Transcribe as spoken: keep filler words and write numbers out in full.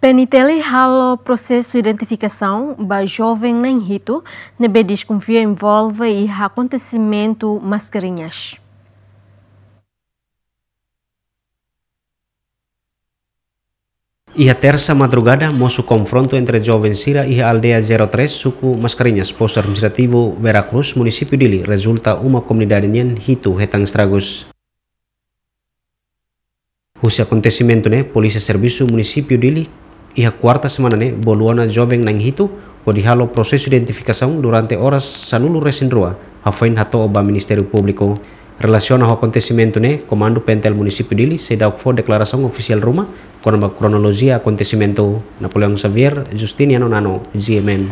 P N T L halo prosesu identifikasaun ba joven na'in hitu ne'ebé deskonfia envolve iha akontesimentu Mascarenhas. Iha tersa madrugada, mosu konfrontu entre joven sira iha aldeia zero três, suku Mascarenhas, postu administrativu Vera Cruz, munisípiu Dili, rezulta uma komunidade nian hitu hetan estragus. Husi akontesimentu ne'e, Polísia Servisu Munisípiu Dili, iha kuarta semana ne'e, bolu ona joven na'in hitu, hodi halo prosesu identifikasaun durante oras sanulu resin rua, hafoin hato'o ba Ministériu Públiku. Relasiona ho akontesimentu ne'e, Komandu P N T L Munisípiu Dili, seidauk fó deklarasaun ofisiál ruma, kona-ba kronolojia akontesimentu. Napoleão Xavier, Justiniano Nano, G M N.